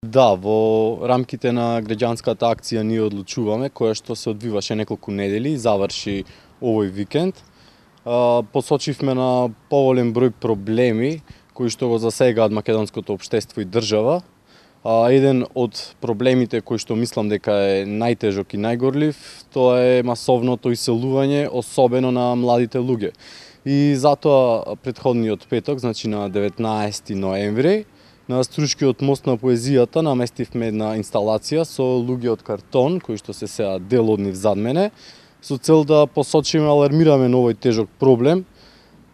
Да, во рамките на граѓанската акција ние одлучуваме, која што се одвиваше неколку недели и заврши овој викенд. Посочивме на поголем број проблеми кои што го засегаат македонското општество и држава. Еден од проблемите кој што мислам дека е најтежок и најгорлив, тоа е масовното иселување, особено на младите луѓе. И затоа претходниот петок, значи на 19 ноември, на Струшкиот мост на поезијата наместивме една инсталација со луѓе од картон, кои што се сеа дел од нив зад мене, со цел да посочиме, алармираме на овој тежок проблем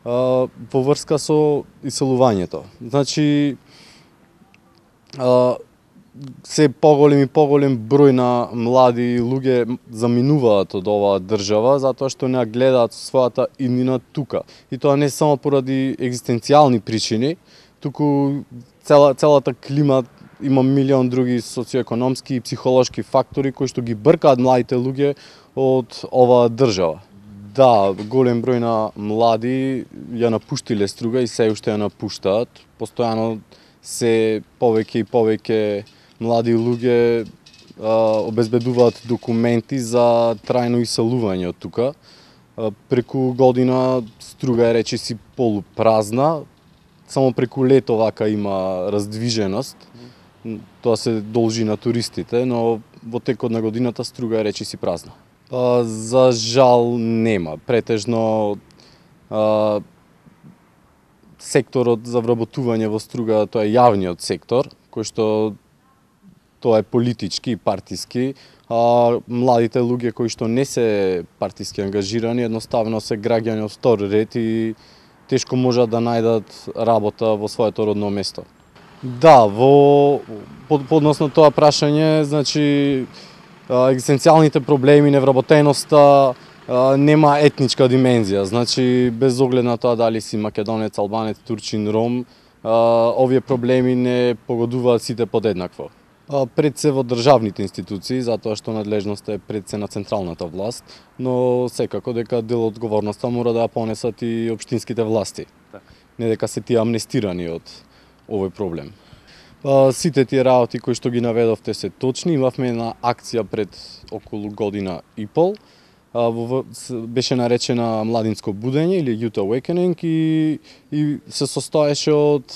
во врска со иселувањето. Значи, се поголем и поголем број на млади луѓе заминуваат од оваа држава затоа што не гледаат својата иднина тука. И тоа не само поради екзистенцијални причини, туку целата клима има милион други социоекономски и психолошки фактори кои што ги бркаат младите луѓе од оваа држава. Да, голем број на млади ја напуштиле Струга и се уште ја напуштаат. Постојано се повеќе и повеќе млади луѓе обезбедуваат документи за трајно иселување од тука. Преку година Струга е речиси полупразна, само преку лето вака има раздвиженост. Тоа се должи на туристите, но во текот на годината Струга е речиси празна. За жал нема. Претежно секторот за вработување во Струга, тоа е јавниот сектор, кој што тоа е политички и партиски, а младите луѓе кои што не се партиски ангажирани, едноставно се граѓани од втор ред и тешко можат да најдат работа во своето родно место. Да, по однос на тоа прашање, значи екзистенцијалните проблеми, невработеноста нема етничка димензија. Значи без оглед на тоа дали си македонец, албанец, турчин, ром, овие проблеми не погодуваат сите подеднакво. Пред се во државните институции, затоа што надлежноста е пред се на централната власт, но секако дека дел од одговорноста мора да ја понесат и општинските власти. Не дека се тие амнестирани од овој проблем. Сите тие работи кои што ги наведовте се точни. Имавме една акција пред околу година и пол, беше наречена Младинско будење или Youth Awakening и се состоеше од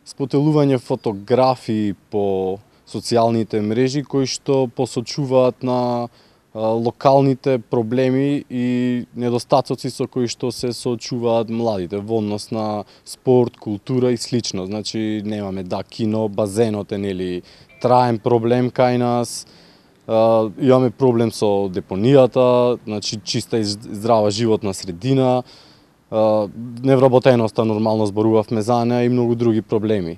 спотелување фотографии по социјалните мрежи кои што посочуваат на локалните проблеми и недостатоци со кои што се соочуваат младите во однос на спорт, култура и слично. Значи немаме кино, базенот е нели траен проблем кај нас. Имаме проблем со депонијата, значи чиста и здрава животна средина. Невработеноста нормално зборувавме за неа и многу други проблеми.